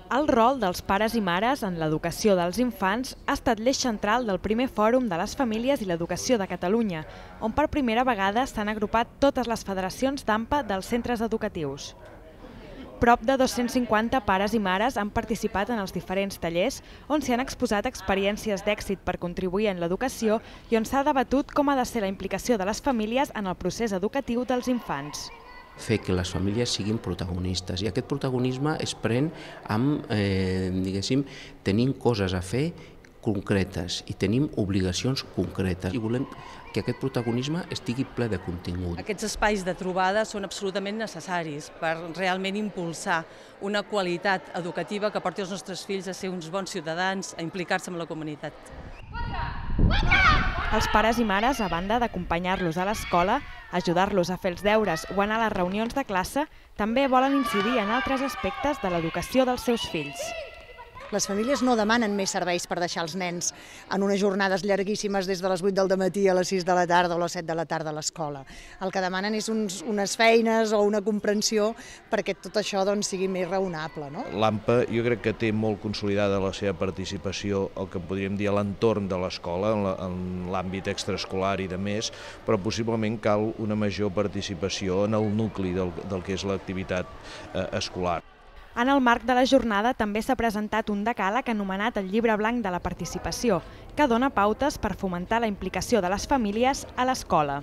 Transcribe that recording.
El rol dels pares i mares en l'educació dels infants ha estat l'eix central del primer Fòrum de les Famílies i l'Educació de Catalunya, on per primera vegada s'han agrupat totes les federacions d'AMPA dels centres educatius. Prop de 250 pares i mares han participat en els diferents tallers on s'hi han exposat experiències d'èxit per contribuir en l'educació i on s'ha debatut com ha de ser la implicació de les famílies en el procés educatiu dels infants. Fer que les famílies siguin protagonistes i aquest protagonisme es pren amb, diguéssim, tenint coses a fer concretes i tenim obligacions concretes i volem que aquest protagonisme estigui ple de contingut. Aquests espais de trobada són absolutament necessaris per realment impulsar una qualitat educativa que porti els nostres fills a ser uns bons ciutadans, a implicar-se en la comunitat. Els pares i mares, a banda d'acompanyar-los a l'escola, ajudar-los a fer els deures o anar a les reunions de classe, també volen incidir en altres aspectes de l'educació dels seus fills. Les famílies no demanen més serveis per deixar els nens en unes jornades llarguíssimes des de les 8 del matí a les 6 de la tarda o a les 7 de la tarda a l'escola. El que demanen és unes feines o una comprensió perquè tot això sigui més raonable. L'AMPA jo crec que té molt consolidada la seva participació, el que podríem dir a l'entorn de l'escola, en l'àmbit extraescolar i de més, però possiblement cal una major participació en el nucli del que és l'activitat escolar. En el marc de la jornada també s'ha presentat un decàleg anomenat el Llibre Blanc de la Participació, que dona pautes per fomentar la implicació de les famílies a l'escola.